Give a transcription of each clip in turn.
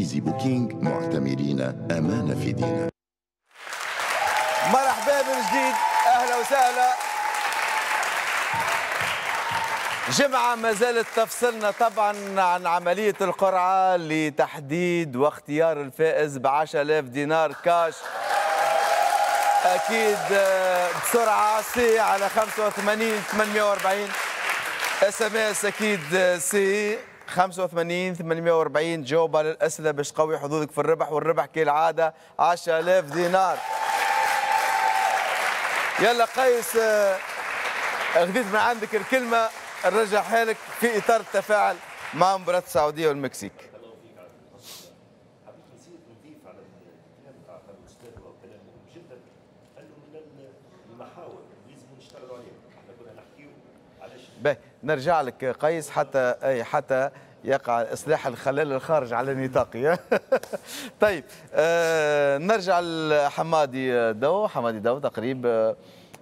Tunisie Booking، معتمرين أمانة في دينا. مرحبا من جديد، أهلا وسهلا. جمعة ما زالت تفصلنا طبعا عن عملية القرعة لتحديد واختيار الفائز ب10,000 دينار كاش. أكيد بسرعة C على 85 840 SMS، أكيد C 85 840. جاوب على الأسئلة باش تقوي حظوظك في الربح، والربح كالعادة 10,000 دينار. يلا قيس، خذيت من عندك الكلمة، نرجع حالك في إطار التفاعل مع مباراة السعودية والمكسيك. باهي، نرجع لك قيس حتى حتى يقع إصلاح الخلل الخارج على نطاقي. طيب نرجع لحمادي دو. حمادي دو تقريب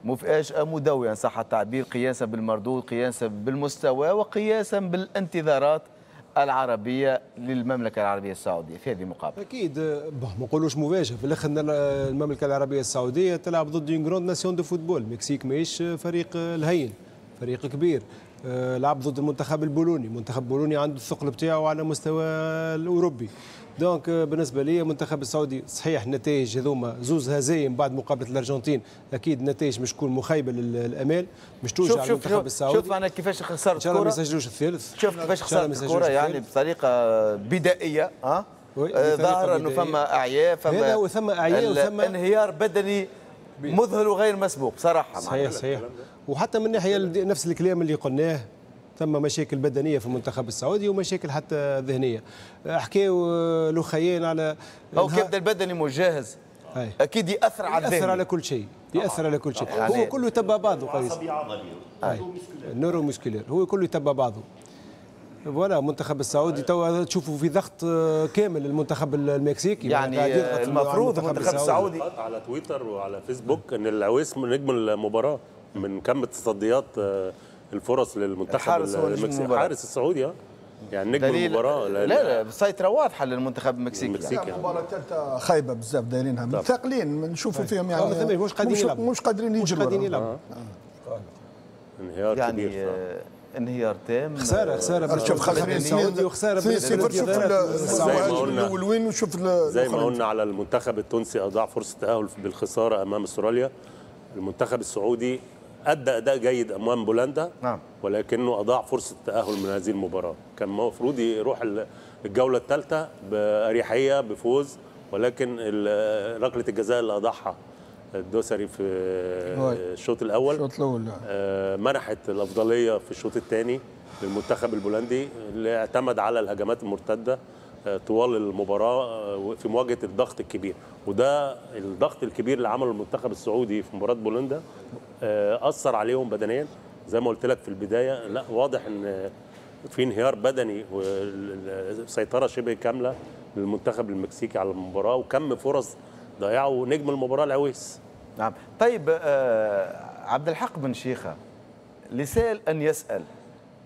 مفاجأة مدوية إن صح التعبير، قياسا بالمردود، قياسا بالمستوى، وقياسا بالانتظارات العربية للمملكة العربية السعودية في هذه المقابلة. أكيد ما نقولوش مفاجأة، في الآخر المملكة العربية السعودية تلعب ضد une grande nation de football. المكسيك ماهيش فريق الهين، فريق كبير. لعب ضد المنتخب البولوني، المنتخب البولوني عنده الثقل بتاعه على مستوى الأوروبي. donc بالنسبة لي المنتخب السعودي صحيح النتائج هذوما زوز هزايم بعد مقابله الارجنتين، اكيد النتائج مش تكون مخيبه للامال، مش توجع المنتخب السعودي. شوف انا كيفاش خسرت الكره، ان شاء الله ما يسجلوش الثالث. شوف كيفاش خسرت الكره يعني بطريقة بدائية. ها ظاهر انه فما اعياء، فما ثم اعياء وثم انهيار بدني مذهل وغير مسبوق صراحة. صحيح صحيح، وحتى من ناحية نفس الكلام اللي قلناه، ثم مشاكل بدنية في المنتخب السعودي ومشاكل حتى ذهنية. حكاو لخيين على او كيبدا البدني مش جاهز اكيد ياثر على الذهن، ياثر على كل شيء، ياثر على كل شيء. يعني هو كله يتبع بعضه قيس، ال neuromusculaire هو كله يتبع بعضه. voilà المنتخب السعودي توا تشوفوا في ضغط كامل المنتخب المكسيكي، يعني المفروض المنتخب السعودي على تويتر وعلى فيسبوك ان العويس نجم المباراة من كم تصديات الفرص للمنتخب المكسيكي، الحارس السعودي يعني نجم المباراة. لا لا، سيطرة واضحة للمنتخب المكسيكي. يعني المباراة الثالثة خايبة بزاف دايرينها، ثاقلين نشوفوا فيهم يعني مش قادرين يلعبوا، مش قادرين يجروا، مش قادرين يلعبوا. انهيار يعني كبير، انهيار تام، خسارة خسارة. شوف خسارة السعودي وخسارة شوف الاول وين، وشوف زي ما قلنا على المنتخب التونسي اضاع فرصة التاهل بالخساره امام استراليا. المنتخب السعودي أدى أداء جيد أمام بولندا، نعم، ولكنه أضاع فرصة التأهل من هذه المباراة. كان المفروض يروح الجولة الثالثة بأريحية بفوز، ولكن ركلة الجزاء اللي أضاعها الدوسري في الشوط الأول منحت الأفضلية في الشوط الثاني للمنتخب البولندي اللي اعتمد على الهجمات المرتدة طوال المباراة في مواجهة الضغط الكبير. وده الضغط الكبير اللي عمله المنتخب السعودي في مباراة بولندا أثر عليهم بدنيا زي ما قلت لك في البداية. لا واضح ان في انهيار بدني وسيطرة شبه كاملة للمنتخب المكسيكي على المباراة، وكم فرص ضيعوا نجم المباراة العويس. نعم. طيب عبد الحق بن شيخة، لسائل أن يسأل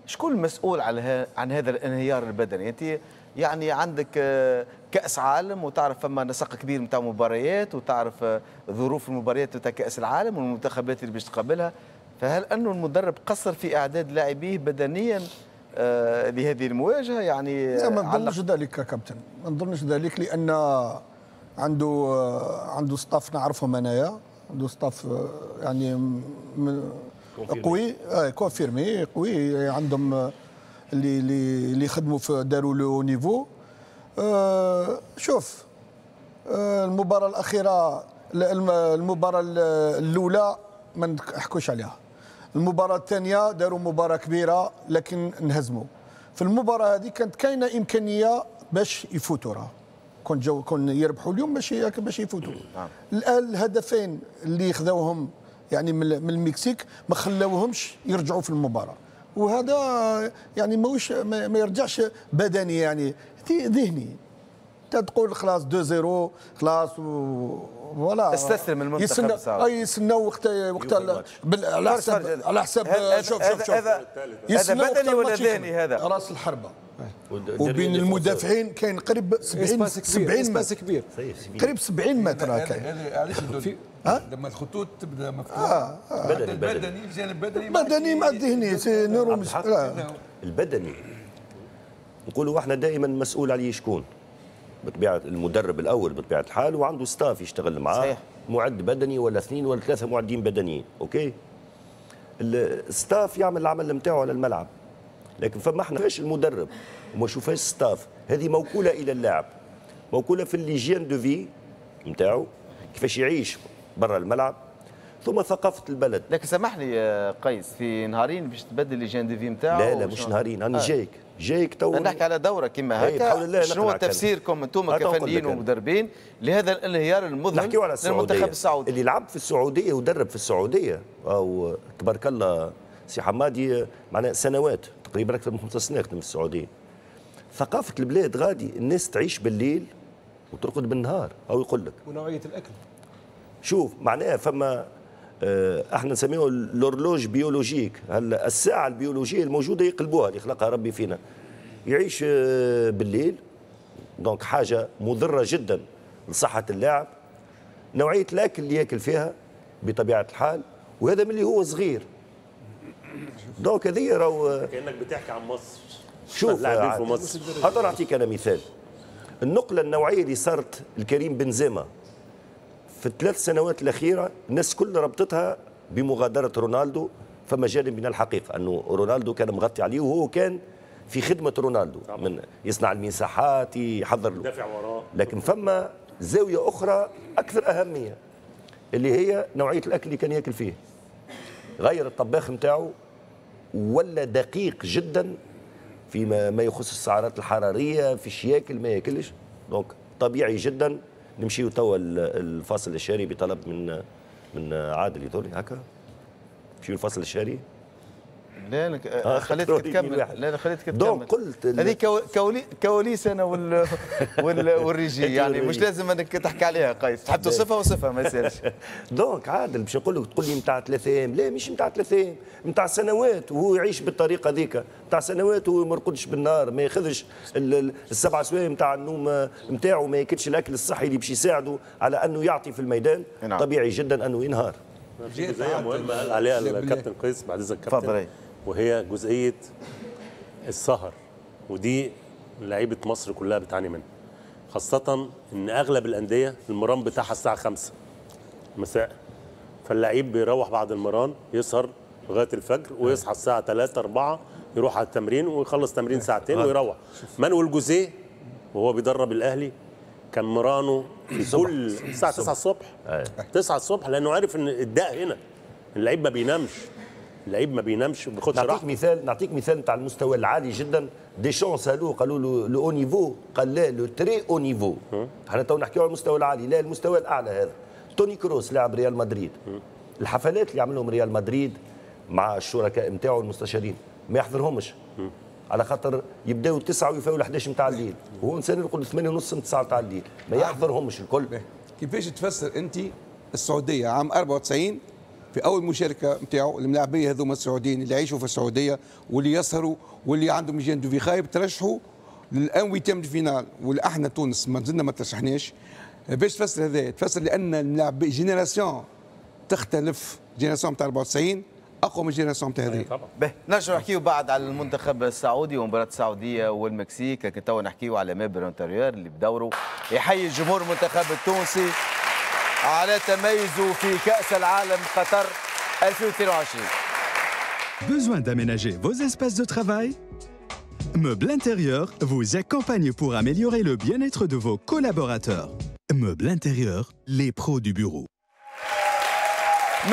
شكون المسؤول عن هذا الانهيار البدني؟ انت يعني عندك كأس عالم وتعرف فما نسق كبير نتاع مباريات، وتعرف ظروف المباريات نتاع كأس العالم والمنتخبات اللي باش تقابلها، فهل أنه المدرب قصر في إعداد لاعبيه بدنيا لهذه المواجهة؟ يعني لا، ما نظنش ذلك كابتن، ما نظنش ذلك، لأن عنده staff نعرفهم أنايا، عنده staff يعني قوي، confirmé قوي، عندهم اللي خدموا في داروا le niveau. شوف المباراة الأخيرة، المباراة الأولى ما نحكوش عليها، المباراة الثانية داروا مباراة كبيرة لكن انهزموا. في المباراة هذه كانت كاينة إمكانية باش يفوتوا، راه كون جو كون يربحوا اليوم باش يفوتوا. الآن الهدفين اللي خذوهم يعني من المكسيك ما خلاوهمش يرجعوا في المباراة، وهذا يعني ماهوش ما يرجعش بدني، يعني ذهني. تقول خلاص 2-0 خلاص voilà، استسلم المنتخب السعودي. اي يستناو وقت على حساب على حساب. شوف شوف شوف، هذا بدني ولا ذهني؟ هذا راس الحربة. وبين المدافعين كاين قريب 70 متر كبير، قريب 70 متر. كاين علاش لما الخطوط تبدا مفتوحة البدني، الجانب البدني بدني مع الذهني c'est neuro. البدني نقولوا احنا دائما مسؤول عليه شكون؟ بطبيعة المدرب الاول بطبيعة الحال، وعنده staff يشتغل معاه. صحيح. معد بدني ولا اثنين ولا ثلاثة معدين بدنيين، OK. ال staff يعمل العمل نتاعو على الملعب، لكن فما احنا فاش المدرب وما شوفهاش staff، هذه موكوله الى اللاعب، موكوله في l'hygiène de vie نتاعو كيفاش يعيش برا الملعب، ثم ثقافة البلد. لكن سامح لي قيس، في نهارين باش تبدل l'hygiène de vie نتاعو؟ لا لا مش نهارين، انا جايك تو نحكي على دوره كما هكا. شنو تفسيركم انتم كفنيين ومدربين لهذا الانهيار المذهل للمنتخب السعودي؟ اللي لعب في السعودية ودرب في السعودية او تبارك الله سي حمادي، معناها سنوات تقريبا اكثر من 5 سنين خدم في السعودية. ثقافة البلاد غادي الناس تعيش بالليل وترقد بالنهار، او يقول لك ونوعية الاكل. شوف معناها فما احنا نسميه l'horloge biologique، الساعة البيولوجية الموجودة يقلبوها اللي خلقها ربي فينا. يعيش بالليل، donc حاجة مضرة جدا لصحة اللاعب. نوعية الاكل اللي ياكل فيها بطبيعة الحال، وهذا من اللي هو صغير. donc هذه راهو كانك بتحكي عن مصر. شوف اللاعبين في مصر. هذا نعطيك انا مثال. النقلة النوعية اللي صارت الكريم بنزيما في الثلاث سنوات الاخيرة، الناس كل ربطتها بمغادرة رونالدو. فما جانب من الحقيقة انه رونالدو كان مغطي عليه، وهو كان في خدمة رونالدو، من يصنع المساحات، يحضر له، دافع وراه. لكن فما زاوية اخرى اكثر اهمية اللي هي نوعية الاكل اللي كان ياكل فيه. غير الطباخ نتاعو ولا دقيق جدا فيما ما يخص السعرات الحرارية، في ياكل ما ياكلش. donc طبيعي جدا. نمشيو توا الفاصل الشهري بطلب من عادل يدوري هكا. نمشيو الفاصل الشهري. لا خليتك تكمل. لا خليتك تكمل. donc قلت هذه كواليس انا والريجي، يعني مش لازم انك تحكي عليها قيس، تحب توصفها وصفها ما يسالش. donc عادل باش نقول لك، تقول لي نتاع 3 ايام، لا مش نتاع 3 ايام، نتاع سنوات وهو يعيش بالطريقة ذيك، نتاع سنوات وهو ما يرقدش بالنهار، ما ياخذش السبع سوايع نتاع النوم نتاعو، ما ياكلش الاكل الصحي اللي باش يساعده على انه يعطي في الميدان. نعم. طبيعي جدا انه ينهار. جزئية مهمة قال عليها الكابتن قيس بعد اذنك الكابتن، وهي جزئية السهر، ودي لعيبة مصر كلها بتعاني منها، خاصة ان اغلب الاندية المران بتاعها الساعة 5 مساء، فاللعيب بيروح بعد المران يسهر لغاية الفجر ويصحى الساعة 3 4 يروح على التمرين ويخلص تمرين ساعتين ويروح. مانويل جوزيه وهو بيدرب الاهلي كان مرانه في كل الساعة 9 الصبح، 9 الصبح، لانه عارف ان الداء هنا، اللعيب ما بينامش، اللعيب ما بينامش وما بياخدش راحته. نعطيك مثال نتاع المستوى العالي جدا. ديشون سالوه قالوا له le haut niveau، قال لا le très haut niveau. احنا تو نحكيو على المستوى العالي، لا المستوى الاعلى هذا. توني كروس لاعب ريال مدريد، الحفلات اللي عملهم ريال مدريد مع الشركاء نتاعو المستشارين ما يحضرهمش، على خاطر يبداو 9 ويفاو 11 نتاع الليل، وهو انسان يرقد 8:30 9 نتاع الليل، ما يحضرهمش الكل. كيفاش تفسر انت السعودية عام 94 في اول مشاركة نتاعو، الملاعبيه هذوما السعوديين اللي يعيشوا في السعودية واللي يسهروا واللي عندهم hygiène de vie خايب ترشحوا لل un huitième de finale، واحنا تونس ما زلنا ما ترشحناش. باش تفسر هذا؟ تفسر لان الملاعب génération تختلف، génération نتاع 94 اقوى من génération تاع هذه. باهي، نرجعوا نحكيو بعد على المنتخب السعودي ومباراة السعودية والمكسيك، لكن توا نحكيو على Meuble Intérieur اللي بدوره يحيي الجمهور المنتخب التونسي على تميزه في كأس العالم قطر 2022. Besoin d'aménager vos espaces de travail? Meuble Intérieur vous accompagne pour améliorer le bien-être de vos collaborateurs. Meuble Intérieur, les pros du bureau.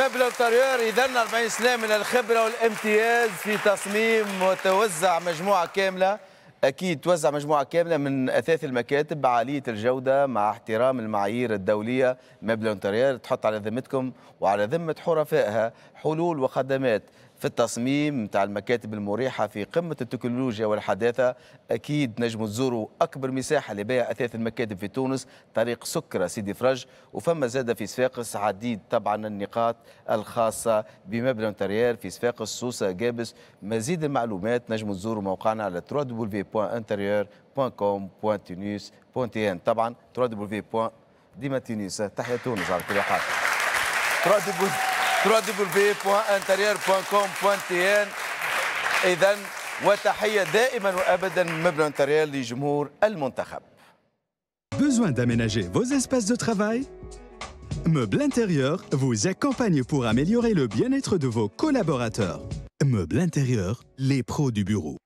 Meuble Intérieur اذا 40 سنة من الخبرة والامتياز في تصميم وتوزع مجموعة كاملة، اكيد توزع مجموعة كاملة من اثاث المكاتب عالية الجودة مع احترام المعايير الدولية. Meuble Intérieur تحط على ذمتكم وعلى ذمه حرفائها حلول وخدمات في التصميم نتاع المكاتب المريحة في قمة التكنولوجيا والحداثة. اكيد نجموا تزوروا اكبر مساحة لبيع اثاث المكاتب في تونس، طريق سكره سيدي فرج، وفما زاد في صفاقس عديد طبعا النقاط الخاصة ب Meuble Intérieur في صفاقس، سوسة، قابس. مزيد المعلومات نجموا تزوروا موقعنا على www.interieur.com.tunis.tn، طبعا www. ديما تونس، تحيا تونس على كل حال. www.interieur.com.tn. إذا وتحية دائما وأبدا من Meuble Intérieur لجمهور المنتخب. Besoin d'aménager vos espaces de travail؟ Meuble Intérieur vous accompagne pour améliorer le bien-être de vos collaborateurs. Meuble Intérieur, les pros du bureau.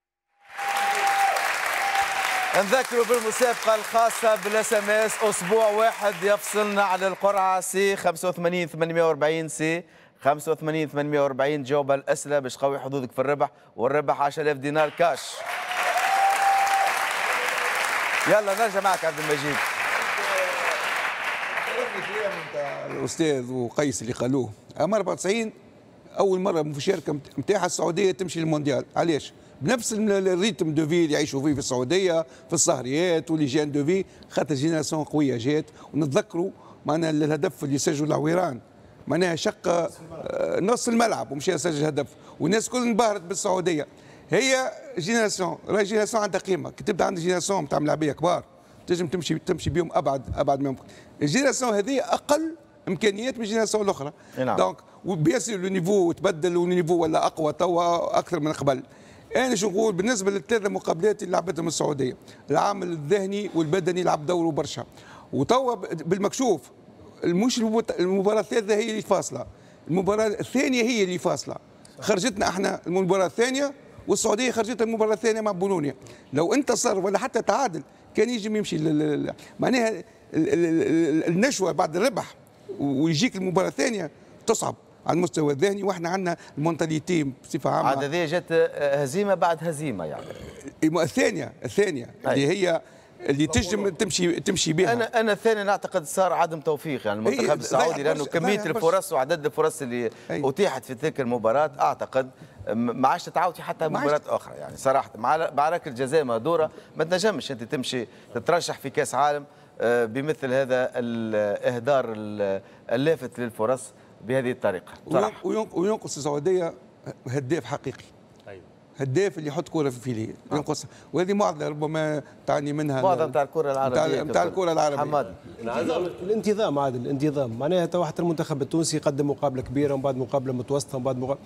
نذكروا بالمسابقة الخاصة بال SMS، اسبوع واحد يفصلنا على القرعة. C 85 840، C 85 840، جاوب على الأسئلة باش تقوي حظوظك في الربح، والربح 10000 دينار كاش. يلا نرجع معك عبد المجيد. الأستاذ وقيس اللي قالوه، عام 94 أول مرة مشاركة نتاعها السعودية تمشي للمونديال، علاش؟ بنفس ال rythme de vie اللي يعيشوا فيه في السعودية، في السهريات و l'hygiène de vie، خاطر génération قوية جات. ونتذكروا معنا الهدف اللي سجلوا العويران، معناها شق نص الملعب ومشى سجل هدف، والناس الكل انبهرت بالسعودية. هي génération، راهي génération عندها قيمة، كي تبدا عندك génération نتاع ملاعبيه كبار تنجم تمشي بهم ابعد ما يمكن. ال génération هذه اقل امكانيات من ال génération الاخرى. نعم. donc و bien sûr le niveau تبدل وال niveau ولا اقوى توا اكثر من قبل. انا شو نقول بالنسبة للثلاثه مقابلات اللي لعبتهم السعودية، العامل الذهني والبدني لعب دوره برشا. وتوا بالمكشوف مش المباراة الثالثة هي اللي فاصلة، المباراة الثانية هي اللي فاصلة. خرجتنا احنا المباراة الثانية، والسعودية خرجتها المباراة الثانية مع بولونيا. لو انتصر ولا حتى تعادل كان يجم يمشي، معناها النشوة بعد الربح ويجيك المباراة الثانية تصعب على المستوى الذهني، واحنا عندنا ال mentalité بصفة عامة. عاد هذه جت هزيمة بعد هزيمة يعني. الثانية اللي هي اللي تنجم تمشي بها. انا الثانية نعتقد صار عدم توفيق يعني المنتخب السعودي، لانه كمية الفرص وعدد الفرص اللي اتيحت في تلك المباراة اعتقد ما عادش تتعاود في حتى مباراة اخرى يعني صراحة. مع ركلة جزاء مهدوره ما تنجمش انت تمشي تترشح في كاس عالم بمثل هذا الاهدار اللافت للفرص بهذه الطريقة صراحة. وينقص السعودية هداف حقيقي. أيوة. هداف اللي يحط كره في filet ينقص، وهذه معضلة ربما تعاني منها معضلة نتاع الكره العربية، نتاع الكره العربية. حماد الانتظام، عادل الانتظام، معناها تو حتى المنتخب التونسي قدم مقابله كبيرة ومن بعد مقابله متوسطه ومن بعد مقابله،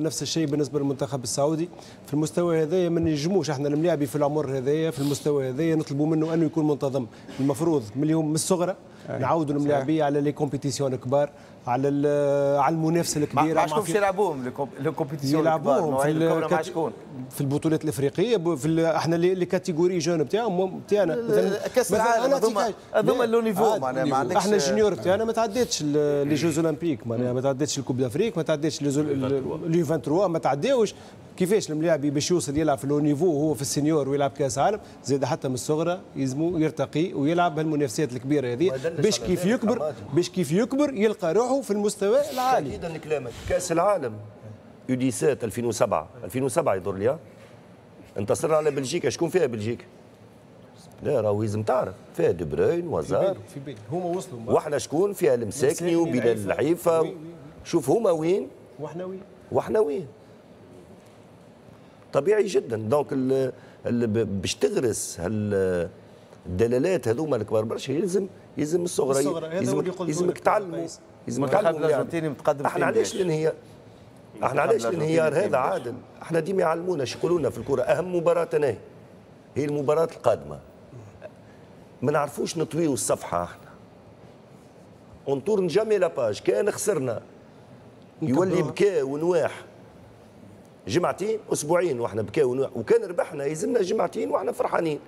نفس الشيء بالنسبة للمنتخب السعودي. في المستوى هذايا ما نجموش احنا الملاعبي في العمر هذايا في المستوى هذايا نطلبوا منه انه يكون منتظم. المفروض من اليوم من الصغرى نعاودوا الملاعبيه على les compétitions الكبار، على المنافسة الكبيرة. مع شكون يلعبوهم les compétitions الكبار؟ مع شكون؟ في البطولات الافريقية، في احنا les catégories jeunes بتاعهم بتاعنا مثلا كاس العالم، هذوما le niveau معناها ما عندكش. احنا ال juniors بتاعنا ما تعديتش les Jeux Olympiques، معناها ما تعديتش ال Coupe d'Afrique، ما تعديتش les U23، ما تعداوش. كيفاش الملاعبي باش يوصل يلعب في le niveau وهو في ال senior ويلعب كاس عالم؟ زاد حتى من الصغرى يلزمو يرتقي ويلعب هالمنافسات الكبيرة هذه باش كيف يكبر، باش كيف يكبر يلقى روحه في المستوى العالي. تأكيدا لكلامك، كاس العالم U17 2007 يضر لي انتصرنا على بلجيكا. شكون فيها بلجيكا؟ لا راهو لازم تعرف فيها دي بروين وزار في بالي هما وصلوا، واحنا شكون فيها؟ المساكني وبلال العيفه. شوف هما وين واحنا وين، واحنا وين. طبيعي جدا. donc باش تغرس الدلالات هذوما الكبار برشا يلزم الصغرى، يلزمك تعلموا، يلزمك تعلموا. الارجنتيني متقدم. احنا علاش الانهيار؟ احنا علاش الانهيار هذا عادل؟ احنا ديما يعلمونا، شو يقولوا لنا في الكره؟ اهم مباراة هي المباراة القادمة. ما نعرفوش نطويو الصفحة احنا. on tourne jamais la page. كان خسرنا يولي بكاء ونواح جمعتين اسبوعين واحنا بكاء ونواح، وكان ربحنا يلزمنا جمعتين واحنا فرحانين.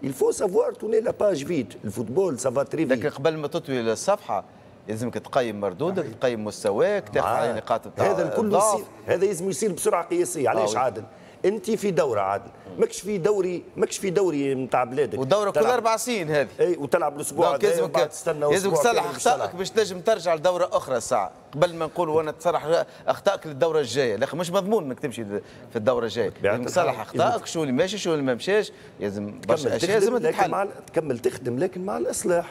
Il faut savoir tourner la page vite. ال football ça va très vite. لكن قبل ما تطوي الصفحة لازمك تقيم مردودك، تقيم مستواك، تاخذ على نقاط هذا الكل يصير، هذا لازم يصير بسرعة قياسية. علاش عادل؟ انت في دوره عادل، ماكش في دوري، ماكش في دوري نتاع بلادك، ودوره كل 4 سنين هذه. اي وتلعب الاسبوع هذا وبعد تستنى لازمك تصلح اخطائك باش تنجم ترجع لدوره اخرى ساعة قبل ما نقول وانا تصلح اخطائك للدورة الجاية، لكن مش مضمون انك تمشي في الدورة الجاية. لازم تصلح اخطائك، شو اللي ماشي شو اللي ما مشاش، لازم برشا اشياء لازم تتحل. تكمل تخدم لكن مع الاصلاح،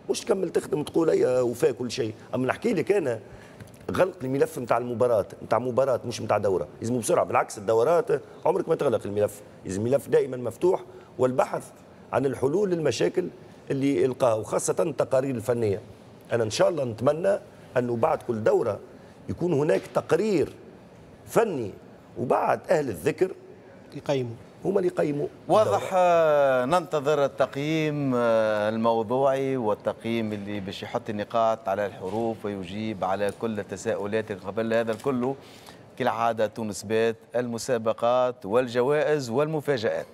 مش تكمل تخدم وتقول اي وفاء كل شيء. اما نحكي لك انا غلق الملف نتاع المباراة، نتاع مباراة مش نتاع دوره، لازم بسرعة. بالعكس الدورات عمرك ما تغلق الملف، لازم الملف دائما مفتوح والبحث عن الحلول للمشاكل اللي القاها، وخاصة التقارير الفنية. انا ان شاء الله نتمنى انه بعد كل دوره يكون هناك تقرير فني، وبعد اهل الذكر يقيموا، هما اللي يقيموا. واضح. ننتظر التقييم الموضوعي والتقييم اللي باش يحط النقاط على الحروف ويجيب على كل التساؤلات. قبل هذا الكل كالعادة تونس بات المسابقات والجوائز والمفاجآت.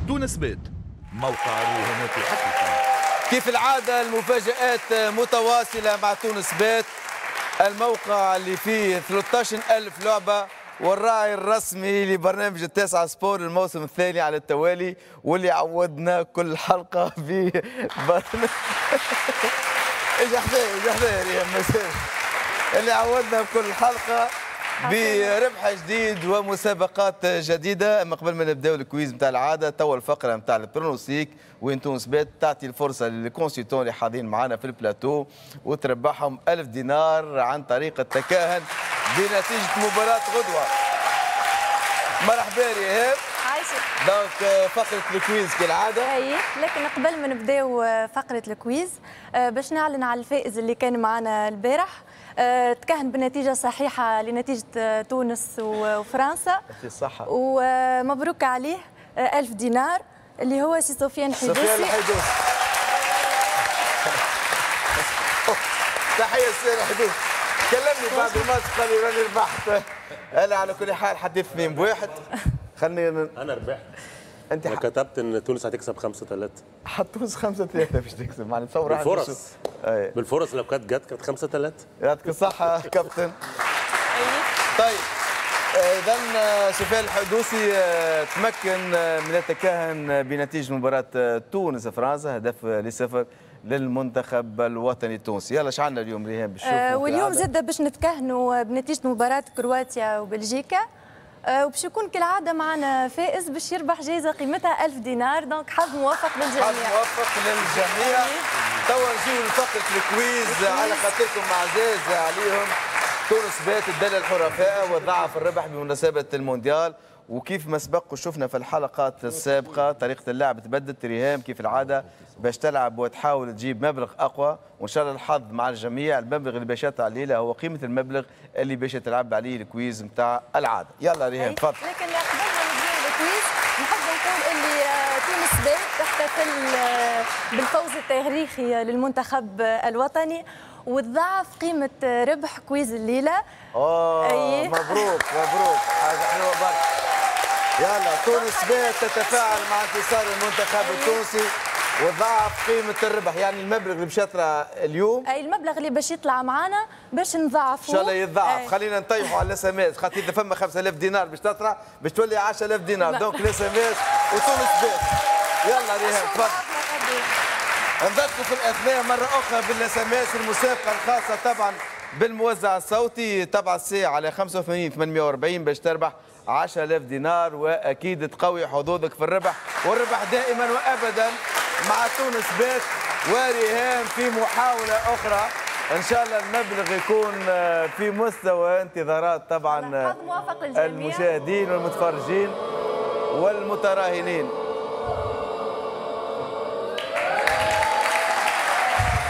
تونس بات، موقع الرهانات الحقيقي. كيف العادة المفاجآت متواصلة مع تونس بات، الموقع اللي فيه 13,000 لعبة والراعي الرسمي لبرنامج التاسعة sport الموسم الثاني على التوالي، واللي عودنا كل حلقة في برنامج اجا حذايا يا مساء، اللي عودنا بكل حلقة بربح جديد ومسابقات جديدة. اما قبل ما نبداو ال quiz نتاع العادة، توا الفقرة نتاع ال pronostic وين تونس بات تعطي الفرصة لل consultants اللي حاضرين معنا في البلاتو وتربحهم 1000 دينار عن طريق التكهن بنتيجة مباراة غدوه. مرحبا ريهام. عايشك. donc فقره ال quiz كالعادة. اي لكن قبل ما نبداو فقره ال quiz باش نعلن على الفائز اللي كان معنا البارح. تكهن بنتيجة صحيحة لنتيجة تونس وفرنسا. الصحة. ومبروك عليه 1000 دينار اللي هو سي سفيان حيدوسي. سفيان الحيدوسي. تحية سفيان الحيدوسي. كلمني بعد الماتش قال لي راني ربحت. أنا على كل حال حديث 2-1. خلني أنا ربحت. أنت كتبت إن تونس هتكسب 5-3. حط تونس 5-3 باش تكسب، معناها تصور بالفرص. بالفرص لو كانت جت كانت 5-3. يعطيك الصحة كابتن. طيب إذا سفيان الحدوسي تمكن من التكهن بنتيجة مباراة تونس فرنسا 0-0 للمنتخب الوطني التونسي. يلا اش عندنا اليوم ريهام باش نشوفوا؟ واليوم زادة باش نتكهنوا بنتيجة مباراة كرواتيا وبلجيكا، وباش يكون كالعادة معنا فائز باش يربح جائزة قيمتها 1000 دينار. donc حظ موفق للجميع. حظ موفق للجميع. توا نجيو لفقره ال quiz على خاطركم عزاز عليهم. تونس بات الدلة الحرفاء وضعف الربح بمناسبة المونديال، وكيف ما سبق وشفنا في الحلقات السابقة طريقه اللعب تبدلت. ريهام كيف العادة باش تلعب وتحاول تجيب مبلغ اقوى، وان شاء الله الحظ مع الجميع. المبلغ اللي باش يطلع الليلة هو قيمة المبلغ اللي باش تلعب عليه ال quiz نتاع العادة. يلا ريهام تفضل. لكن قبل ما نبداو ال quiz نحب نقول اللي تونس بات تحتفل بالفوز التاريخي للمنتخب الوطني وتضاعف قيمة ربح quiz الليلة. مبروك مبروك، حاجة حلوة برشا. يلا تونس بات تتفاعل مع انتصار المنتخب التونسي وضاعف قيمة الربح، يعني المبلغ اللي باش يطلع اليوم، اي المبلغ اللي باش يطلع معنا باش نضاعفوه ان شاء الله يتضاعف. خلينا نطيحوا على ال SMS، خاطر اذا فما 5000 دينار باش تطلع باش تولي 10000 دينار. donc ال SMS وتونس بات. يلا ريهام تفضل. نذكروا في الاثناء مرة أخرى بال SMS المسابقة الخاصة طبعا بالموزع الصوتي تبع السي على 85 840 باش تربح 10000 دينار، واكيد تقوي حظوظك في الربح، والربح دائما وابدا مع تونس بات وريهام في محاولة أخرى. إن شاء الله المبلغ يكون في مستوى انتظارات طبعا المشاهدين والمتفرجين والمتراهنين.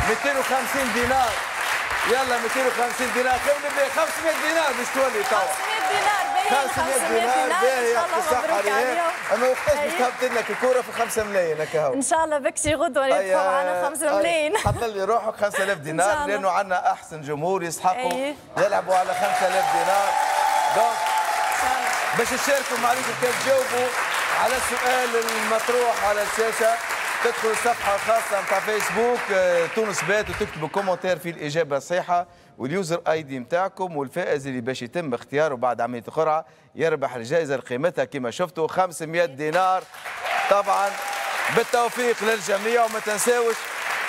250 دينار، يلا 250 دينار، خلينا نبدا 500 دينار باش تولي توا. 500 دينار. ملايين، 500 دينار ان شاء الله، مبروك عليهم. اما وقتاش باش تهبط لنا الكورة في 5 ملايين هكا؟ ان شاء الله بكشي غدوه يدفعوا معنا 5 ملايين. حط لي روحك 5000 دينار لانه عندنا احسن جمهور يستحقوا يلعبوا على 5000 دينار. donc باش تشاركوا معليكم كان تجاوبوا على السؤال المطروح على الشاشة، تدخلوا الصفحة الخاصة نتاع فيسبوك تونس بات وتكتبوا commentaire في الاجابة الصحيحة وال user ID نتاعكم، والفائز اللي باش يتم اختياره بعد عملية القرعة يربح الجائزة اللي قيمتها كما شفتوا 500 دينار. طبعا بالتوفيق للجميع، وما تنساوش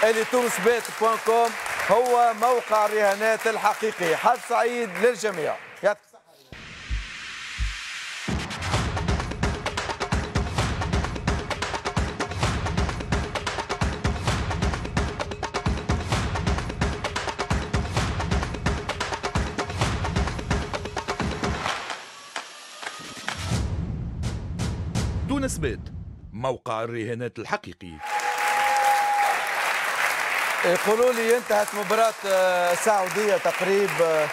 اللي تونسبات point com هو موقع الرهانات الحقيقي. حظ سعيد للجميع. يعطيك الصحة. تونس بات، موقع الرهانات الحقيقي. يقولوا لي انتهت مباراة السعودية تقريبا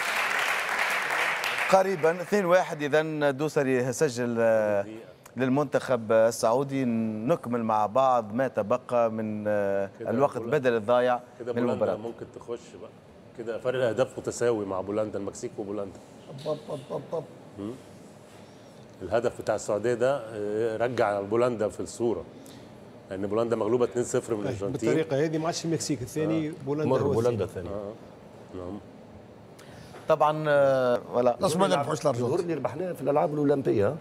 قريبا 2-1. اذا دوسري سجل للمنتخب السعودي. نكمل مع بعض ما تبقى من الوقت بدل الضايع من المباراة. ممكن تخش بقى كده فرق الاهداف متساوي مع بولندا، المكسيك وبولندا. الهدف بتاع السعودية ده رجع بولندا في الصورة، لان بولندا مغلوبه 2-0 من الارجنتين. بالطريقة هذه ما عادش المكسيك الثاني، بولندا هو بولندا الثاني. نعم طبعا. ولا لازم ما نربحوش الارجنتين. اللي ربحناه في الالعاب الاولمبية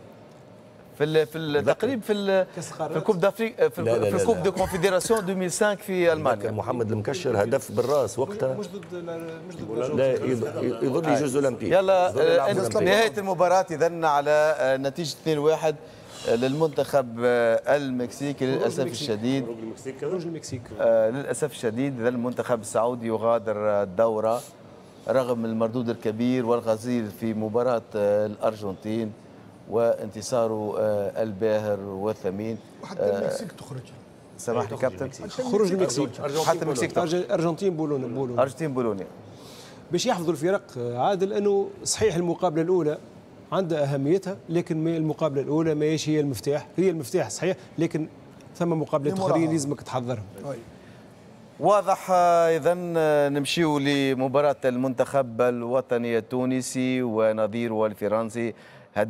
في تقريبا في ال coupe d'Afrique، في ال coupe des confédérations 2005 في المانيا. محمد المكشر هدف بالراس وقتها، مش ضد لا يظل les Jeux olympiques. يلا نهاية المباراة اذا على نتيجة 2-1 للمنتخب المكسيكي للاسف الشديد. خروج المكسيك للاسف الشديد. اذا المنتخب السعودي يغادر الدورة رغم المردود الكبير والغزير في مباراة الارجنتين وانتصاره الباهر والثمين. وحتى المكسيك تخرج. سامحني كابتن، خروج المكسيك، حتى المكسيك، ارجنتين بولونيا، ارجنتين بولونيا. باش يحفظوا الفرق عادل، انه صحيح المقابلة الاولى عندها اهميتها، لكن المقابلة الاولى ماهيش هي المفتاح، هي المفتاح صحيح، لكن ثم مقابلات اخرين لازمك تحضرهم. واضح. اذا نمشيو لمباراة المنتخب الوطني التونسي ونظيره الفرنسي، 0-0،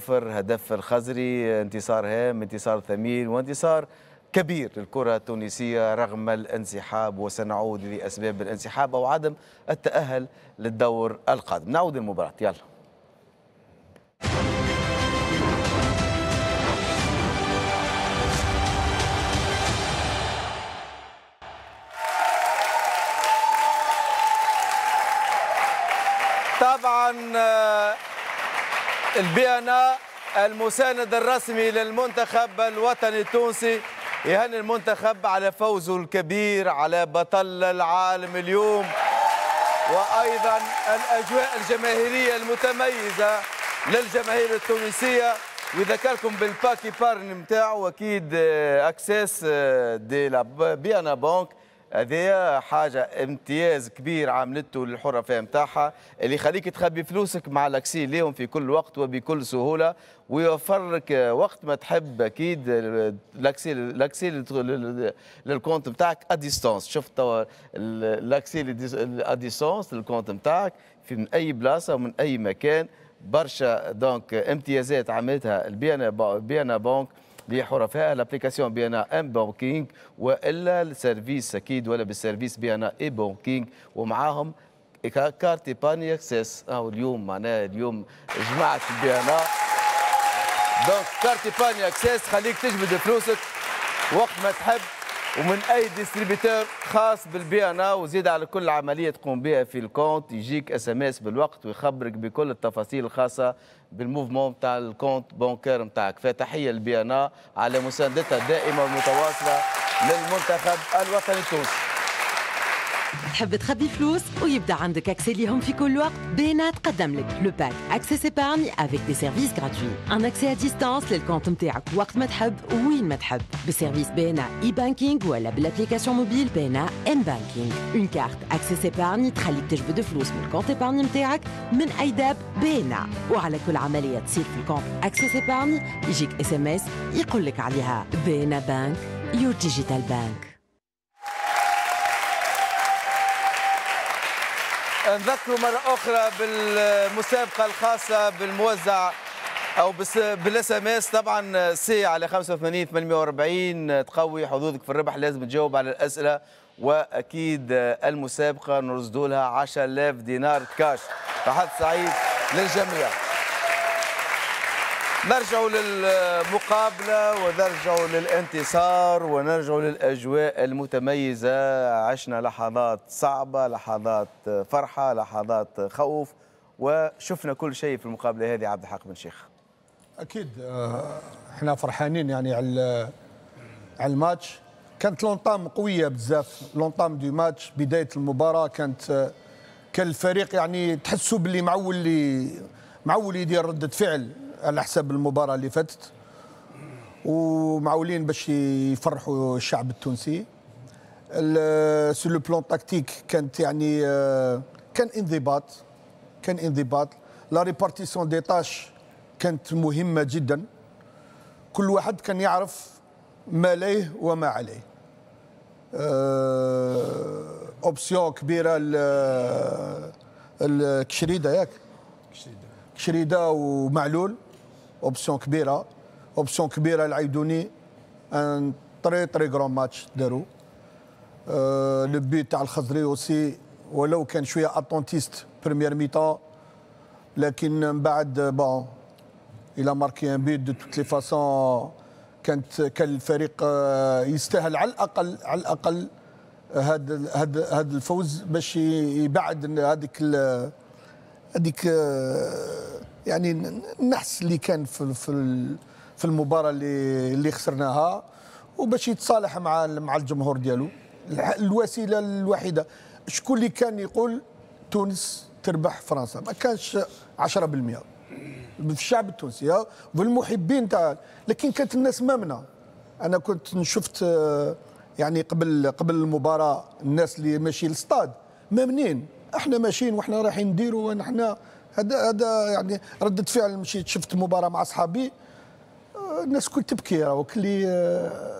هدف الخزري، انتصار هام، انتصار ثمين، وانتصار كبير للكرة التونسية رغم الانسحاب، وسنعود لأسباب الانسحاب أو عدم التأهل للدور القادم. نعود للمباراة، يلا. طبعا ال BNA المساند الرسمي للمنتخب الوطني التونسي يهني المنتخب على فوزه الكبير على بطل العالم اليوم، وايضا الاجواء الجماهيرية المتميزة للجماهير التونسية. ويذكركم بال pack épargne نتاعو اكيد Access de la BNA Bank، هذه حاجة امتياز كبير عملته للحرفاء نتاعها اللي يخليك تخبي فلوسك مع l'accès ليهم في كل وقت وبكل سهولة، ويوفر لك وقت ما تحب اكيد l'accès لل compte نتاعك à distance. شفت توا l'accès à distance لل compte نتاعك في من اي بلاصة ومن اي مكان. برشا donc امتيازات عملتها ال BNA Bank لحرفائها، l'application BNA m-banking والا ال service اكيد ولا بال service BNA e-banking، ومعاهم carte épargne Access. اليوم معناها اليوم جماعة BNA donc carte épargne Access خليك تجبد فلوسك وقت ما تحب ومن اي distributeur خاص بال BNA، وزيد على كل عملية تقوم بها في ال compte يجيك SMS بالوقت ويخبرك بكل التفاصيل الخاصة بال mouvement تاع ال compte bancaire نتاعك. فتحيه لل BNA على مساندتها الدائمة والمتواصله للمنتخب الوطني التونسي. تحب تخبي فلوس ويبدا عندك accès ليهم في كل وقت؟ BNA تقدم لك le pack Access Épargne avec des services gratuits، un accès à distance لل compte نتاعك وقت ما تحب وين ما تحب، بال service BNA e-banking ولا بال application mobile BNA m-banking. une carte Access Épargne تخليك تجبد فلوس من ال compte épargne نتاعك من اي DAB BNA، وعلى كل عملية تصير في ال compte Access Épargne يجيك SMS يقول لك عليها. BNA Bank، your digital bank. نذكر مرة أخرى بالمسابقة الخاصة بالموزع أو بال SMS، طبعا C على 85 840 تقوي حظوظك في الربح. لازم تجاوب على الأسئلة، وأكيد المسابقة نرصدوا لها 10000 دينار كاش. فحظ سعيد للجميع. نرجع للمقابلة ونرجع للانتصار ونرجع للأجواء المتميزة. عشنا لحظات صعبة، لحظات فرحة، لحظات خوف، وشفنا كل شيء في المقابلة هذه. عبد الحق بن شيخ، أكيد احنا فرحانين يعني على الماتش. كانت l'entame قوية بزاف، l'entame du match، بداية المباراة كانت كان الفريق يعني تحسوا باللي معول يدير ردة فعل على حساب المباراة اللي فاتت، ومعولين باش يفرحوا الشعب التونسي. sur le plan tactique كانت يعني كان انضباط، la répartition des tâches كانت مهمة جدا. كل واحد كان يعرف ما ليه وما عليه. option كبيرة الكشريدة، ياك كشريدة ومعلول، option كبيرة، option كبيرة العيدوني. un très très grand match داروا. le but تاع الخزري aussi، ولو كان شوية attentiste première mi-temps، لكن من بعد bon il a marqué un but. de toutes les façons كان الفريق يستاهل على الاقل، على الاقل هذا الفوز باش يبعد هذيك يعني النحس اللي كان في المباراة اللي خسرناها، وباش يتصالح مع الجمهور ديالو. الوسيلة الوحيدة، شكون اللي كان يقول تونس تربح فرنسا؟ ما كانش 10% في الشعب التونسي والمحبين تاع، لكن كانت الناس مامنه. انا كنت شفت يعني قبل المباراة الناس اللي ماشي للستاد مامنين، احنا ماشيين واحنا رايحين نديروا ونحن هذا يعني ردة فعل. مشيت شفت مباراة مع اصحابي، الناس كل تبكي، راهو كلي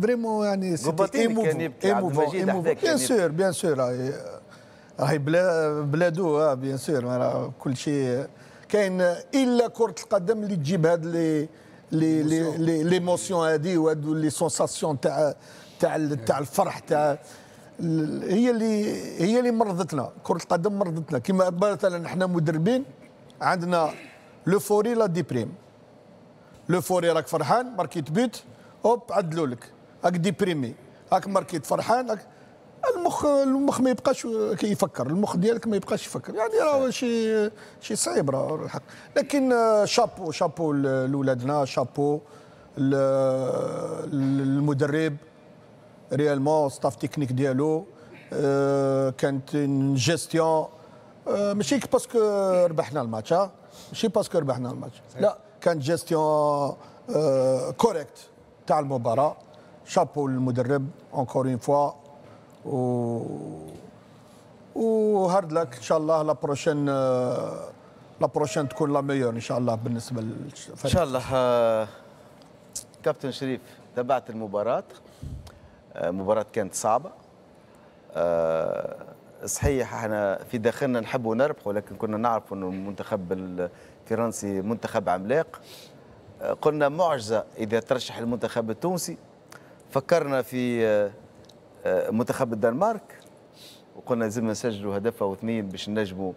vraiment يعني c'était émouvant. bien sûr bien sûr راهي بلادو، bien sûr كل شيء كاين الا كرة القدم اللي تجيب هاد les les les les émotions هادي وهادو les sensations تاع تاع الفرح تاع هي اللي مرضتنا. كرة القدم مرضتنا. كما مثلا احنا مدربين عندنا l'euphorie la déprime. l'euphorie راك فرحان ماركيت but، hop عدلوا لك، راك déprimé، راك ماركيت فرحان، راك المخ ما يبقاش كيفكر، المخ ديالك ما يبقاش يفكر، يعني راه شيء صعيب راه الحق. لكن chapeau chapeau لولادنا، شابو المدرب réellement، staff technique ديالو كانت gestion، ماشي parce que ربحنا الماتش، ماشي parce que ربحنا الماتش، لا كانت gestion correcte تاع المباراة. شابو للمدرب encore une fois، و hard luck ان شاء الله la prochaine، la prochaine تكون la meilleure ان شاء الله بالنسبة للفريق ان شاء الله. كابتن شريف، تابعت المباراة، مباراة كانت صعبة، صحيح احنا في داخلنا نحبوا نربح، ولكن كنا نعرف انه المنتخب الفرنسي منتخب عملاق. قلنا معجزة إذا ترشح المنتخب التونسي. فكرنا في منتخب الدنمارك وقلنا لازم نسجلوا هدف أو اثنين باش نجموا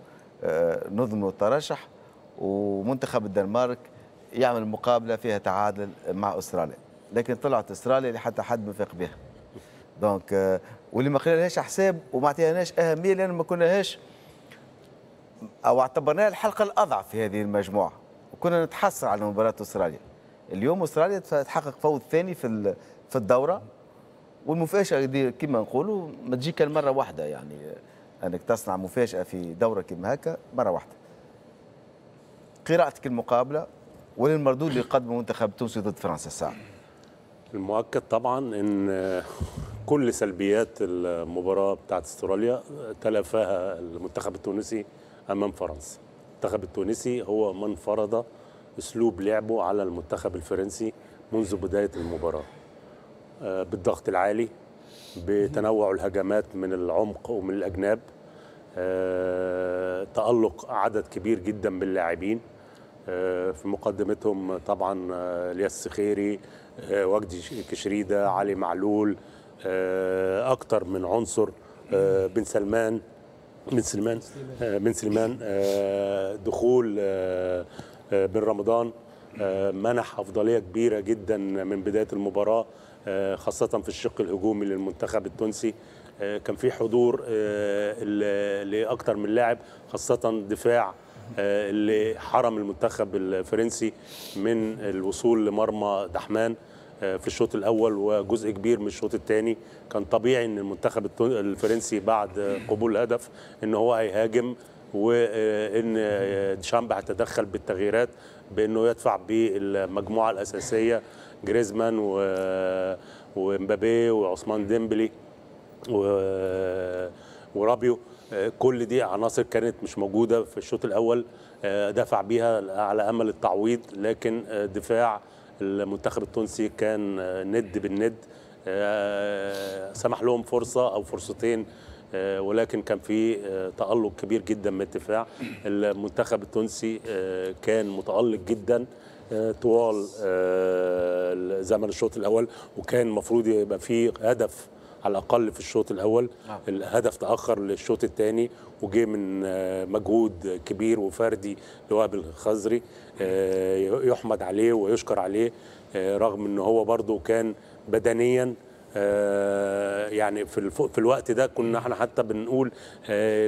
نضمنوا الترشح، ومنتخب الدنمارك يعمل مقابلة فيها تعادل مع أستراليا، لكن طلعت أستراليا اللي حتى حد ما فاق بها. donc واللي ما خليناش حساب وما عطيناش أهمية، لأن ما كناهاش أو اعتبرناها الحلقة الأضعف في هذه المجموعة، وكنا نتحسر على مباراة أستراليا. اليوم أستراليا تحقق فوز ثاني في الدورة، والمفاجاه دي كما نقولوا ما تجي كان مرة واحدة، يعني انك تصنع مفاجاة في دوره كما هكا مرة واحدة. قراءتك المقابلة وللمردود اللي قدمه المنتخب التونسي ضد فرنسا الساعة. المؤكد طبعا ان كل سلبيات المباراة بتاعت استراليا تلافاها المنتخب التونسي امام فرنسا. المنتخب التونسي هو من فرض اسلوب لعبه على المنتخب الفرنسي منذ بداية المباراة، بالضغط العالي، بتنوع الهجمات من العمق ومن الاجناب، تألق عدد كبير جدا من اللاعبين، في مقدمتهم طبعا الياس السخيري، وجدي كشريده، علي معلول، اكتر من عنصر، بن سلمان، دخول بن رمضان منح افضلية كبيرة جدا من بداية المباراة، خاصة في الشق الهجومي للمنتخب التونسي. كان في حضور لاكثر من لاعب، خاصة دفاع اللي حرم المنتخب الفرنسي من الوصول لمرمى دحمان في الشوط الاول وجزء كبير من الشوط الثاني. كان طبيعي ان المنتخب الفرنسي بعد قبول الهدف ان هو هيهاجم، وان ديشامب هيتدخل بالتغييرات بانه يدفع بالمجموعة الاساسية جريزمان ومبابي وعثمان ديمبلي ورابيو. كل دي عناصر كانت مش موجودة في الشوط الاول، دفع بيها على امل التعويض، لكن دفاع المنتخب التونسي كان ند بالند، سمح لهم فرصة او فرصتين، ولكن كان في تألق كبير جدا من الدفاع. المنتخب التونسي كان متألق جدا طوال زمن الشوط الاول، وكان المفروض يبقى فيه هدف على الاقل في الشوط الاول. الهدف تاخر للشوط الثاني وجه من مجهود كبير وفردي لوهب الخزري، يحمد عليه ويشكر عليه، رغم ان هو برضه كان بدنيا يعني في الوقت ده كنا احنا حتى بنقول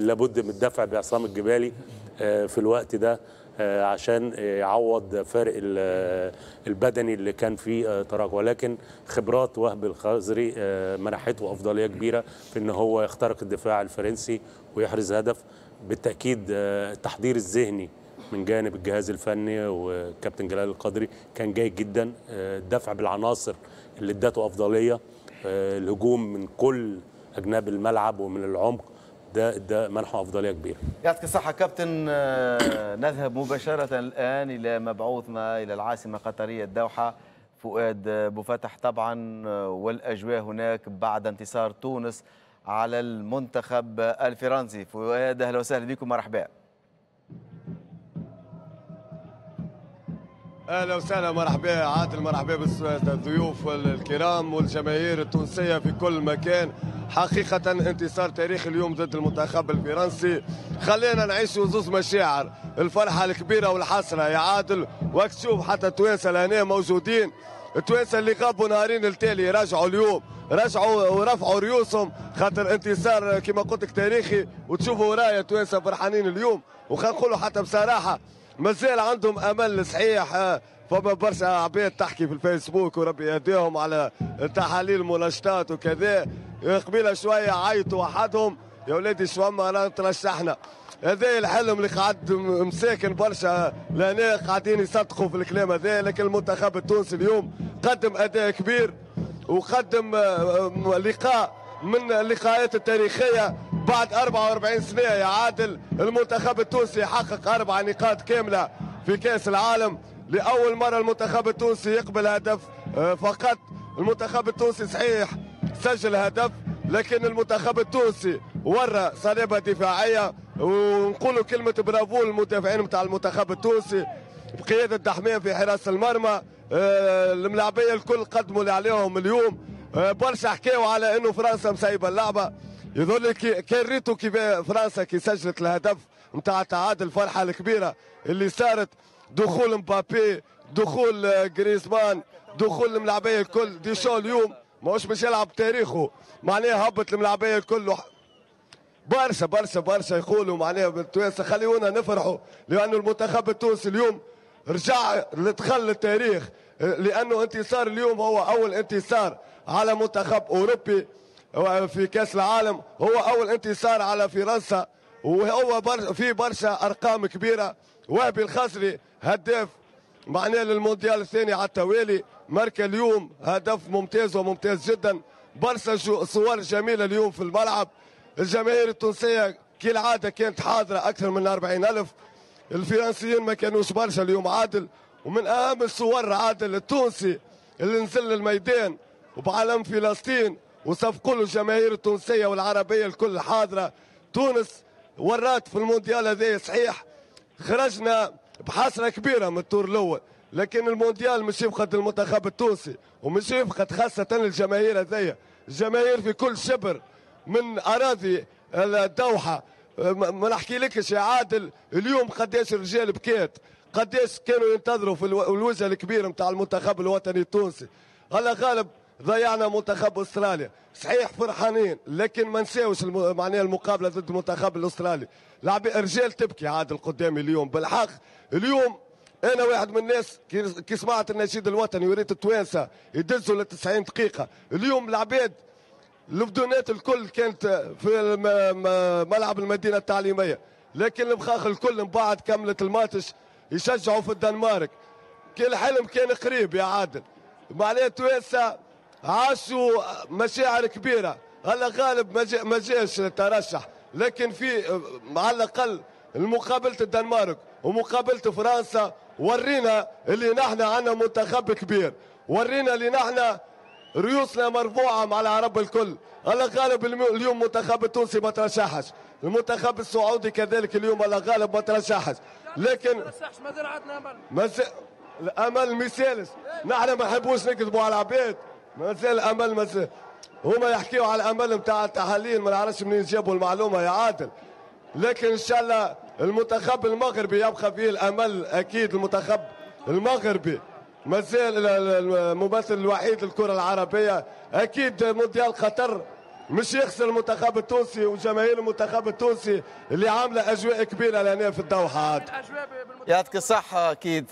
لابد من الدفع بعصام الجبالي في الوقت ده عشان يعوض فارق البدني اللي كان فيه تراجع، ولكن خبرات وهب الخزري منحته افضلية كبيرة في ان هو يخترق الدفاع الفرنسي ويحرز هدف. بالتاكيد التحضير الذهني من جانب الجهاز الفني وكابتن جلال القدري كان جيد جدا، الدفع بالعناصر اللي ادته افضلية، الهجوم من كل اجناب الملعب ومن العمق، ده منحه افضلية كبيرة. يعطيك الصحة كابتن. نذهب مباشرة الان الى مبعوثنا الى العاصمة القطرية الدوحة فؤاد بوفتح، طبعا والاجواء هناك بعد انتصار تونس على المنتخب الفرنسي. فؤاد اهلا وسهلا بكم، مرحبا. اهلا وسهلا، مرحبا عادل، مرحبا بالضيوف الكرام والجماهير التونسية في كل مكان. حقيقة انتصار تاريخي اليوم ضد المنتخب الفرنسي، خلينا نعيشوا زوز مشاعر، الفرحة الكبيرة والحسرة يا عادل. وقت تشوف حتى التوانسة لهنا موجودين، التوانسة اللي غابوا نهارين التالي رجعوا اليوم، رجعوا ورفعوا ريوسهم خاطر انتصار كما قلت لك تاريخي. وتشوفوا ورايا التوانسة فرحانين اليوم، وخلينا نقولوا حتى بصراحة مازال عندهم امل صحيح. فما برشا عباد تحكي في الفيسبوك وربي يهديهم على تحاليل مناشطات وكذا، قبيلة شوية عيطوا وحدهم يا ولادي شو ما ترشحنا. هذا الحلم اللي قعد مساكن برشا لهنا قاعدين يصدقوا في الكلام هذا، لكن المنتخب التونسي اليوم قدم اداء كبير وقدم لقاء من اللقاءات التاريخية بعد 44 سنة يا عادل. المنتخب التونسي حقق 4 نقاط كاملة في كاس العالم، لاول مرة المنتخب التونسي يقبل هدف فقط. المنتخب التونسي صحيح سجل هدف، لكن المنتخب التونسي ورى صلابة دفاعية، ونقولوا كلمة برافو للمدافعين نتاع المنتخب التونسي بقيادة دحمان في حراسة المرمى. الملاعبيه الكل قدموا اللي عليهم اليوم. برشا حكاوا على انه فرنسا مسيبه اللعبة، يظل لي كان ريتو كيف فرنسا كي سجلت الهدف نتاع التعادل، الفرحة الكبيرة اللي صارت، دخول مبابي، دخول جريزمان، دخول الملاعبيه الكل. ديشان اليوم ماهوش باش يلعب تاريخه، معناها هبط الملاعبيه الكل. برشا برشا برشا يقولوا معناها بالتوانسه خليونا نفرحوا، لانه المنتخب التونسي اليوم رجع دخل للتاريخ، لانه انتصار اليوم هو اول انتصار على منتخب أوروبي في كأس العالم، هو أول انتصار على فرنسا، وهو في برشا أرقام كبيرة. وهبي الخزري هداف معناه للمونديال الثاني على التوالي، ماركا اليوم هدف ممتاز وممتاز جدا. برشا صور جميلة اليوم في الملعب. الجماهير التونسية كالعادة كانت حاضرة أكثر من 40,000، الفرنسيين ما كانوش برشا اليوم عادل. ومن أهم الصور عادل التونسي اللي نزل الميدان وبعلم فلسطين وصفقوا له الجماهير التونسية والعربية الكل حاضرة. تونس ورات في المونديال هذا، صحيح خرجنا بحسرة كبيرة من التور الأول، لكن المونديال مش يفقد المنتخب التونسي ومش يفقد خاصة الجماهير هذيا. الجماهير في كل شبر من أراضي الدوحة، ما نحكي لكش يا عادل اليوم قداش الرجال بكات، قداش كانوا ينتظروا في الوجه الكبير نتاع المنتخب الوطني التونسي. الله غالب ضيعنا منتخب استراليا، صحيح فرحانين لكن ما نساوش معناها المقابلة ضد المنتخب الاسترالي. لعب رجال تبكي عادل قدامي اليوم بالحق. اليوم انا واحد من الناس كي سمعت النشيد الوطني وريت التوانسة يدزوا ل 90 دقيقة، اليوم العباد البدونات الكل كانت في ملعب المدينة التعليمية، لكن المخاخ الكل من بعد كملت الماتش يشجعوا في الدنمارك. كل حلم كان قريب يا عادل، معناها التوانسة عاشوا مشاعر كبيرة. هلا غالب ما جاش الترشح، لكن في على الاقل مقابله الدنمارك ومقابله فرنسا ورينا اللي نحن عندنا منتخب كبير، ورينا اللي نحن ريوسنا مرفوعة مع العرب الكل. الله غالب اليوم المنتخب التونسي ما ترشحش، المنتخب السعودي كذلك اليوم الله غالب ما ترشحش، لكن الامل ما يسالش. نحن ما نحبوش نكذبوا على العباد، مازال الامل، مازال هما يحكيوا على الامل نتاع التحاليل، ما نعرفش منين جابوا المعلومة يا عادل، لكن ان شاء الله المنتخب المغربي يبقى فيه الامل اكيد. المنتخب المغربي مازال الممثل الوحيد للكرة العربية، اكيد مونديال قطر مش يخسر المنتخب التونسي وجماهير المنتخب التونسي اللي عامله اجواء كبيرة لهنا في الدوحة. عاد يعطيك الصحة، اكيد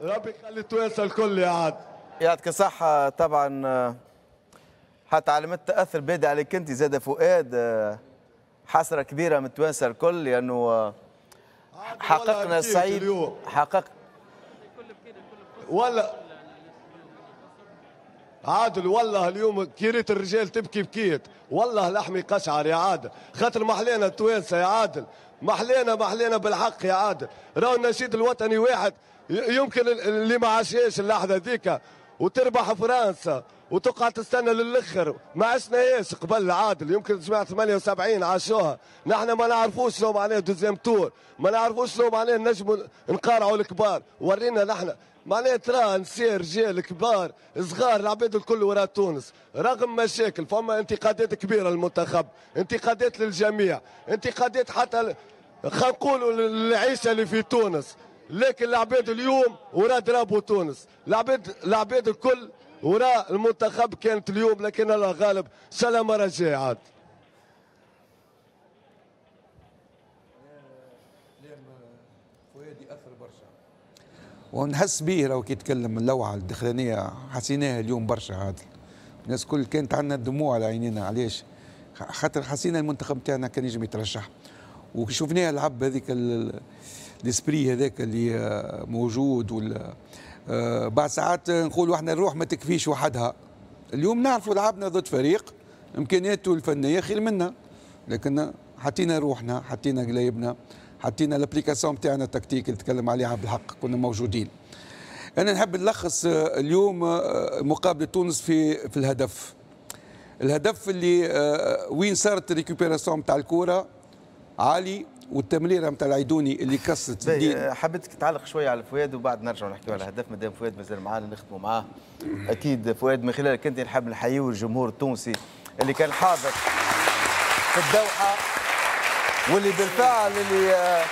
ربي يخلي التوانسة الكل يا عاد. يعطيك الصحة. طبعا حتى علامات التاثر بادئ عليك انت زاد فؤاد، حسرة كبيرة من التوانسة الكل لانه حققنا الصعيب، حقق ولا عادل والله اليوم كي ريت الرجال تبكي بكيت والله لحمي قشعر يا عادل، خاطر محلينا التوانسة يا عادل، محلينا محلينا بالحق يا عادل. راهو النشيد الوطني واحد يمكن اللي ما عاشهاش اللحظة ذيك وتربح فرنسا وتقعد تستنى للاخر، ما عشناهاش قبل عادل، يمكن جماعة 78 عاشوها، نحن ما نعرفوش شنو معناه deuxième tour، ما نعرفوش شنو معناه نجموا نقارعوا الكبار، ورينا نحن معناه ترى نساء رجال كبار صغار العباد الكل وراء تونس، رغم مشاكل، فما انتقادات كبيرة للمنتخب، انتقادات للجميع، انتقادات حتى خلينا نقولوا للعيشه اللي في تونس، لكن العباد اليوم وراء drapeau تونس، العباد الكل وراء المنتخب كانت اليوم، لكن الله غالب، ان شاء الله المرة الجاية عاد. فؤاد ياثر برشا ونحس به راهو كي يتكلم، اللوعه الداخلانيه حسيناها اليوم برشا عادل، الناس كل كانت عندنا الدموع على عينينا، علاش؟ خاطر حسينا المنتخب تاعنا كان يجم يترشح، وشفناه لعب هذيك l'esprit هذاك اللي موجود ولا بعد ساعات نقولوا احنا الروح ما تكفيش وحدها. اليوم نعرفوا لعبنا ضد فريق امكانياته الفنية خير منا، لكن حطينا روحنا، حطينا قلايبنا، حطينا l'application تاعنا التكتيك اللي تكلم عليها بالحق، كنا موجودين. انا نحب نلخص اليوم مقابله تونس في الهدف. الهدف اللي وين صارت ال récupération تاع الكره عالي والتمريره نتاع العيدوني اللي كسرت الدين. حبيتك تعلق شوية على فؤاد وبعد نرجع نحكيو على الهدف، مادام فؤاد مازال معانا نخدموا معاه. اكيد فؤاد من خلالك انت نحب نحييه الجمهور التونسي اللي كان حاضر في الدوحة واللي بالفعل اللي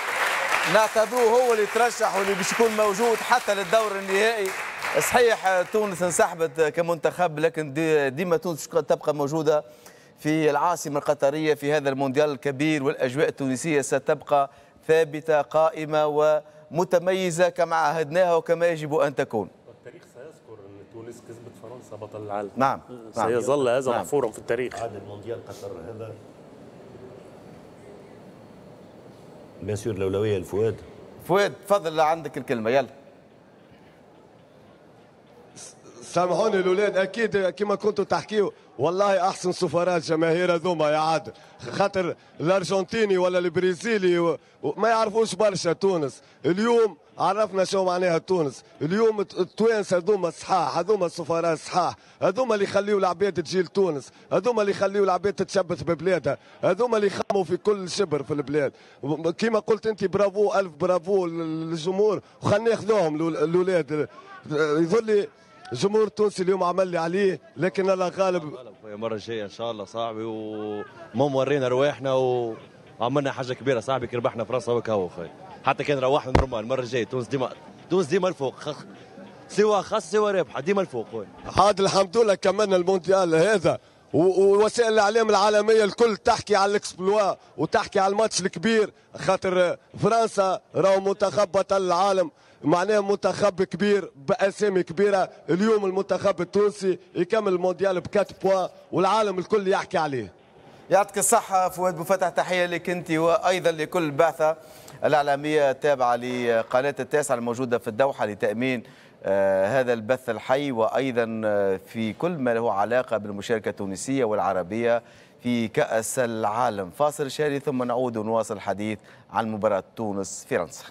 نعتبروه هو اللي ترشح واللي باش يكون موجود حتى للدور النهائي. صحيح تونس انسحبت كمنتخب، لكن ديما تونس تبقى موجودة في العاصمة القطرية في هذا المونديال الكبير، والأجواء التونسية ستبقى ثابتة قائمة ومتميزة كما عهدناها وكما يجب أن تكون. التاريخ سيذكر أن تونس كسبت فرنسا. فرنسا بطل العالم. نعم سيظل هذا محفورا في التاريخ. عاد المونديال قطر هذا bien sûr الاولوية لفؤاد. فؤاد تفضل عندك الكلمة يلا. سامحوني الاولاد، اكيد كما كنتوا تحكيوا والله احسن سفراء الجماهير هذوما يا عادل، خاطر الارجنتيني ولا البرازيلي ما يعرفوش برشا تونس. اليوم عرفنا شو معناها تونس، اليوم التوانسة هذوما الصحاح، هذوما السفراء الصحاح، هذوما اللي يخليوا العباد تجي لتونس، هذوما اللي يخليوا العباد تتشبث ببلادها، هذوما اللي يخموا في كل شبر في البلاد. كما قلت انت برافو، الف برافو للجمهور، وخلينا ناخذوهم الاولاد. يظل لي الجمهور التونسي اليوم عمل لي عليه، لكن الله غالب. المرة الجاية ان شاء الله صاحبي، ومهم ورينا رواحنا وعملنا حاجة كبيرة صاحبي، كي ربحنا فرنسا وكهو خويا، حتى كان روحنا normal. المرة الجاية تونس ديما، تونس ديما الفوق، سوى خاص سوى رابحه ديما الفوق خويا. عاد الحمد لله كملنا المونديال هذا، ووسائل الاعلام العالمية الكل تحكي على ال exploit وتحكي على الماتش الكبير، خاطر فرنسا راهو منتخب بطل العالم، معناه منتخب كبير باسامي كبيرة. اليوم المنتخب التونسي يكمل المونديال ب 4 points والعالم الكل يحكي عليه. يعطيك الصحة فؤاد بوفتح، تحية لك انت وايضا لكل البعثة الاعلامية التابعة لقناه التاسعة الموجودة في الدوحة لتامين هذا البث الحي، وايضا في كل ما له علاقة بالمشاركة التونسية والعربية في كأس العالم. فاصل شهري ثم نعود ونواصل الحديث عن مباراة تونس فرنسا.